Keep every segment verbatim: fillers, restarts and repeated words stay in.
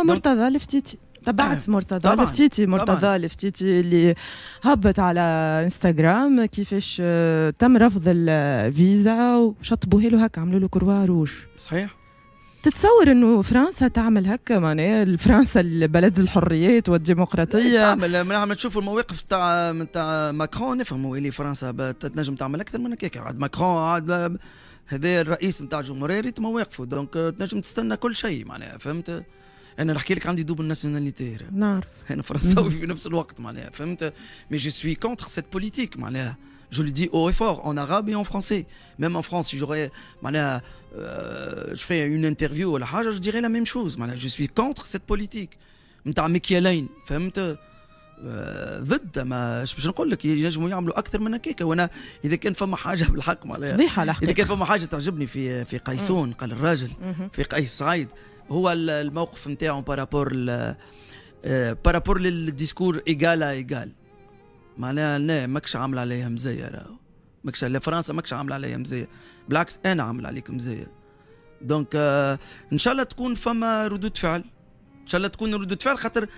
كيما مرتضى الفتيتي، تبعت مرتضى الفتيتي؟ مرتضى الفتيتي اللي هبط على انستغرام كيفاش آه، تم رفض الفيزا وشطبوها له هكا، عملوا له croix rouge. صحيح. تتصور انه فرنسا تعمل هكا؟ معناها فرنسا البلد الحريات والديمقراطيه. تعمل. لما تشوفوا المواقف تاع تاع ماكرون نفهموا اللي فرنسا تنجم تعمل اكثر من هكاك. عاد ماكرون عاد هذا الرئيس نتاع الجمهوريه، ريت مواقفه، donc تنجم تستنى كل شيء معناها، فهمت؟ انا نحكي لك عندي double nationalité. نعرف. انا فرنساوي في نفس الوقت معناها، فهمت؟ mais je suis contre cette politique معناها، je le dis haut et fort en arabe et en français. Même en France, si j'aurais, معناها, euh, je ferais une interview ولا حاجة، je dirais la même chose. معناها, je suis contre cette politique. نتاع مكيالين، فهمت؟ ضد. ما باش نقول لك، ينجموا يعملوا اكثر من هكاك. وانا اذا كان فما حاجة بالحق معناها فضيحة الحقيقه. اذا كان فما حاجة تعجبني في في قيسون، قال الراجل، في قيس سعيد، هو الموقف نتاعو par rapport par rapport لل discours égal à égal. معناها لا، ماكش عامل عليها مزية، راهو ماكش فرنسا ماكش عامل عليها مزيه، بالعكس انا عامل عليك مزيه. donc آه ان شاء الله تكون فما ردود فعل، ان شاء الله تكون ردود فعل، خاطر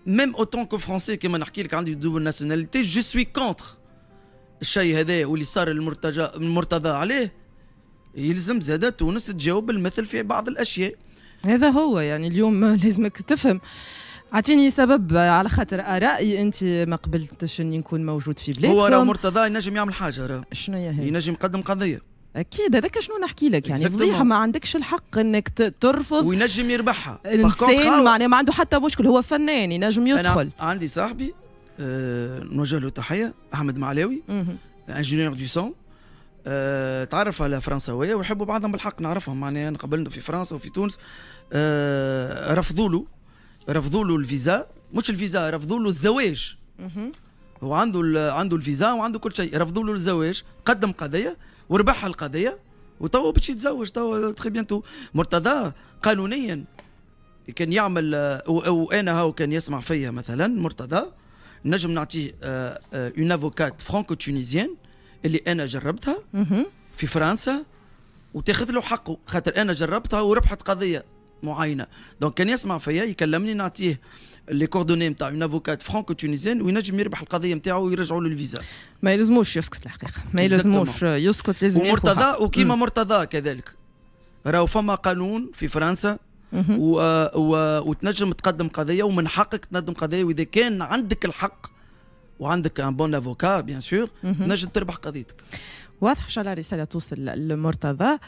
même autant que français، كيما نحكي لك عندي double nationalité، je suis contre الشيء هذا واللي صار المرتجى المرتضى عليه. يلزم زاد تونس تجاوب بالمثل في بعض الاشياء. هذا هو، يعني اليوم لازمك تفهم، اعطيني سبب على خاطر ارائي انت ما قبلتش اني نكون موجود في بلادكم. هو راه مرتضى ينجم يعمل حاجة راه. شنو هي هي؟ ينجم يقدم قضيه. اكيد، هذاك شنو نحكي لك، يعني فضيحه، ما عندكش الحق انك ترفض. وينجم يربحها. انسان معناها ما عنده حتى مشكل، هو فنان ينجم يدخل. أنا عندي صاحبي أه نوجه له تحيه، احمد معلاوي، ingénieur du son، أه تعرف على فرنساويه ويحبوا بعضهم بالحق، نعرفهم معناها، قابلنا في فرنسا وفي تونس. أه رفضوا له رفضوا له الفيزا، مش الفيزا، رفضوا له الزواج. هو عنده عنده الفيزا وعنده كل شيء، رفضوا له الزواج، قدم قضية وربح القضية وتوا باش يتزوج توا très bientôt. مرتضى قانونيا كان يعمل، او انا هاو كان يسمع فيا مثلا مرتضى، نجم نعطيه une avocate franco-tunisienne اللي انا جربتها في فرنسا وتاخذ له حقه، خاطر انا جربتها وربحت قضية معينه. donc كان يسمع فيا يكلمني، نعطيه les coordonnées نتاع une avocate franco-tunisienne وينجم يربح القضية نتاعو ويرجعوا له الفيزا. ما يلزموش يسكت الحقيقه، ما يلزموش يسكت، لازم. ومرتضى وكيما مرتضى كذلك راهو فما قانون في فرنسا و... و... وتنجم تقدم قضية ومن حقك تقدم قضيه، واذا كان عندك الحق وعندك un bon avocat bien sûr تنجم تربح قضيتك. واضح، ان شاء الله رسالة توصل للمرتضى.